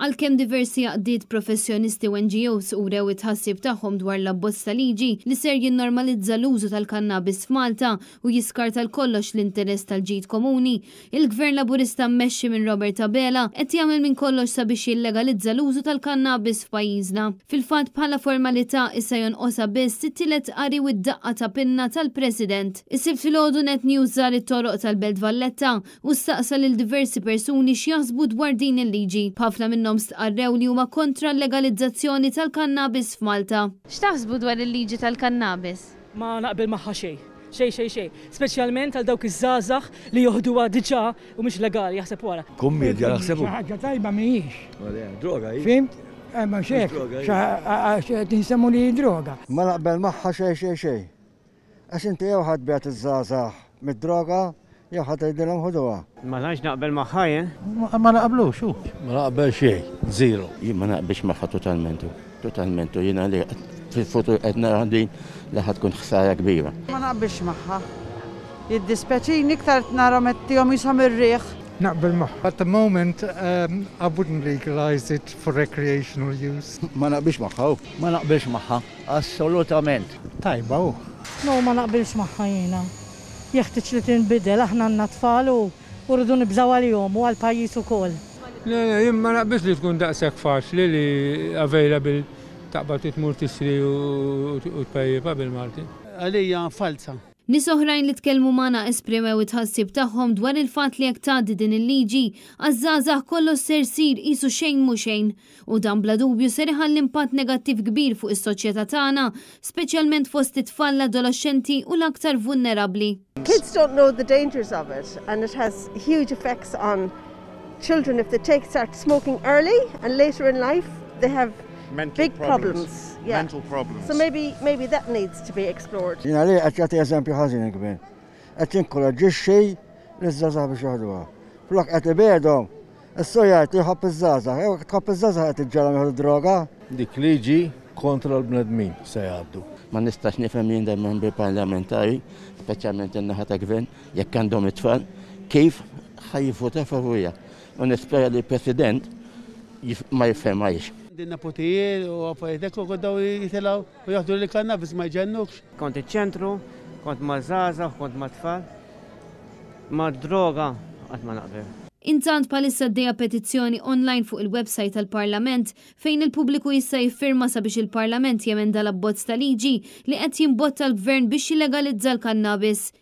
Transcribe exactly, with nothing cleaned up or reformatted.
Għalkemm diversi għaqdiet professjonisti u N G Os urew it-tħassib tagħhom dwar l-abbozz ta' liġi li ser jinnormalizza l-użu tal-kannabis f'Malta u jiskarta kollox l-interess tal-ġid komuni, il-Gvern Laburista mmexxi minn Robert Abela qed jagħmel minn kollox sabiex jillegalizza l-użu tal-kannabis f'pajjiżna. Fil-fatt, bħala formalità issa jonqosha biss it-tielet qari u d-daqqa ta' pinna tal-President. Is-Sibt filgħodu Net News żar it-toroq tal-Belt Valletta u staqsa lil diversi persuni x'jaħsbu dwar din il-liġi. Ħafna minnhom stqarrew li huma kontra l-legalizzazzjoni tal-kannabis f'Malta. X'taħsbu dwar il-liġi tal-kannabis? Ma naqbel magħha xejn. Xejn, xejn, xejn. Speċjalment għal dawk iż-żgħażagħ li joħduha diġà u mhux legali, jaħseb wara. Kummedja naħsebu. Xi ħaġa tajba mhijiex. Droga hi. Fhimt? Eh, ma xek, Droga, hi. tinsemmu li droga. Ma naqbel magħha xejn, xejn, xejn. Għax inti jew ħa tbiegħed iż-żgħażagħ mid-droga jew ħa tgħidilhom ħuduha. Ma tantx naqbel magħha jien. Ma naqblux, hu. Ma naqbel xejn. Zero. Jien ma naqbilx magħha totalment. Totalment. Jiena li fil-futur qed nara din li ħa tkun ħsara kbira. Ma naqbilx magħha. Jiddispjaċini iktar narahom qed jisom ir-riħ. Naqbel magħha. At the moment, um, I wouldn't legalise it for recreational use. Ma naqbilx magħha. Ma naqbilx magħha. Assolutament. Tajba hu. No, ma naqbilx magħha jiena. Jeħtieġ li tinbidel, aħna għandna tfal u u rridu nibżgħu għalihom u għall-pajjiż ukoll. Le, le, jien ma naqbilx li tkun daqshekk faċli li available, taqbad tmur tixtri u u tpejjipa bil-Malti. Għalija falsa. Nies oħrajn li tkellmu magħna esprimew it-tħassib tagħhom dwar il-fatt li jekk tgħaddi din il-liġi, għaż-żgħażagħ kollox ser sir qisu xejn mhu xejn u dan bla dubju ser iħalli impatt negattiv kbir fuq is-soċjetà tagħna, speċjalment fost it-tfal, l-adolescenti u l-aktar vulnerabbli. Kids don't know the dangers of it, and it has huge effects on children if they take start smoking early, and later in life they have Mental big problems. Problems. Yeah. Mental problems. So maybe maybe that needs to be explored. Jiena li qed jagħti eżempju ħażin il-gvern. Qed jinkoraġġixxi liż-żgħażagħ biex joħduha. Flok qed ibiegħedhom. Issa jgħid li jħobb iż-żgħażagħ, jew tħobb iż-żgħażagħ qed iġġegħelhom jieħdu droga. Dik liġi kontra l-bnedmin se jgħaddu. Ma nistax nifhem jien dan membri parlamentari, speċjalment in-naħa ta' gvern, jekk għandhom it-tfal, kif ħa jivvota favurija. U nispera li l-President jif- ma jifhemhiex. Din nepotijiet u affarijiet u daw jitilgħu u jaħdu li kannabis ma jġennukx. Kont iċ-ċentru, kont ma' żgħażagħ, kont ma' tfal. Ma' droga qatt ma naqbel. Intant, bħalissa għaddejja petizzjoni online fuq il-website tal-Parlament fejn il-pubbliku jista' jiffirma sabiex il-Parlament jemenda l-abbozz ta' liġi li qed jimbotta l-gvern biex jillegalizza l-kannabis.